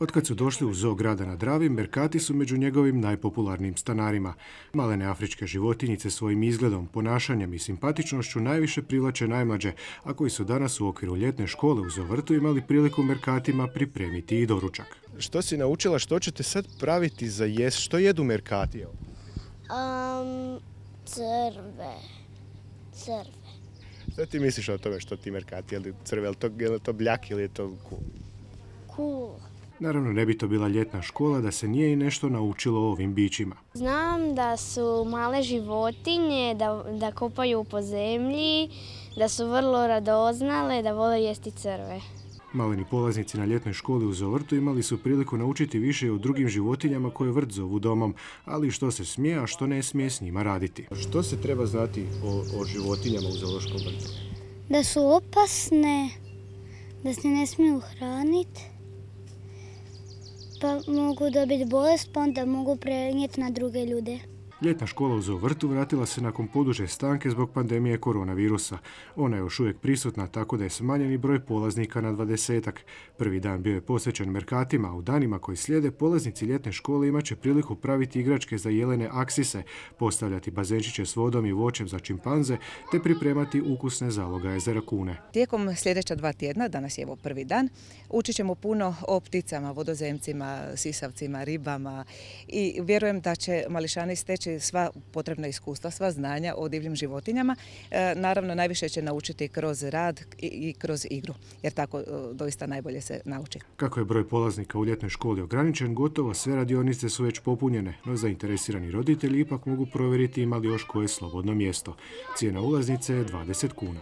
Otkad su došli u zoo grada na Dravi, Merkati su među njegovim najpopularnijim stanarima. Malene afričke životinjice svojim izgledom, ponašanjem i simpatičnošću najviše privlače najmlađe, a koji su danas u okviru ljetne škole u Zovrtu imali priliku Merkatima pripremiti i doručak. Što si naučila, što ćete sad praviti za jest? Što jedu Merkati? Crve. Što ti misliš o tome što ti Merkati? Je li crve, je li to bljak ili je to cool? Cool. Naravno, ne bi to bila ljetna škola da se nije i nešto naučilo o ovim bićima. Znam da su male životinje, da kopaju po zemlji, da su vrlo radoznale, da vole jesti crve. Maleni polaznici na ljetnoj školi u Zovrtu imali su priliku naučiti više o drugim životinjama koje vrt zovu domom, ali što se smije, a što ne smije s njima raditi. Što se treba znati o životinjama u zoološkom vrtu? Da su opasne, da se ne smiju hraniti, pa mogu dobiti bolest, pa onda mogu prenijeti na druge ljude. Ljetna škola u Zovrtu vratila se nakon poduže stanke zbog pandemije koronavirusa. Ona je još uvijek prisutna, tako da je smanjeni broj polaznika na 20-ak. Prvi dan bio je posvećen Merkatima, a u danima koji slijede polaznici ljetne škole imat će priliku praviti igračke za jelene aksise, postavljati bazenčiće s vodom i voćem za čimpanze, te pripremati ukusne zalogaje za rakune. Tijekom sljedeća 2 tjedna, danas je evo prvi dan, učit ćemo puno o pticama, vodozemcima, sisavcima, ribama i vjerujem da će mališani steći sva potrebna iskustva, sva znanja o divljim životinjama. Naravno, najviše će naučiti kroz rad i kroz igru, jer tako doista najbolje se nauči. Kako je broj polaznika u ljetnoj školi ograničen, gotovo sve radionice su već popunjene, no zainteresirani roditelji ipak mogu provjeriti ima li još koje slobodno mjesto. Cijena ulaznice je 20 kuna.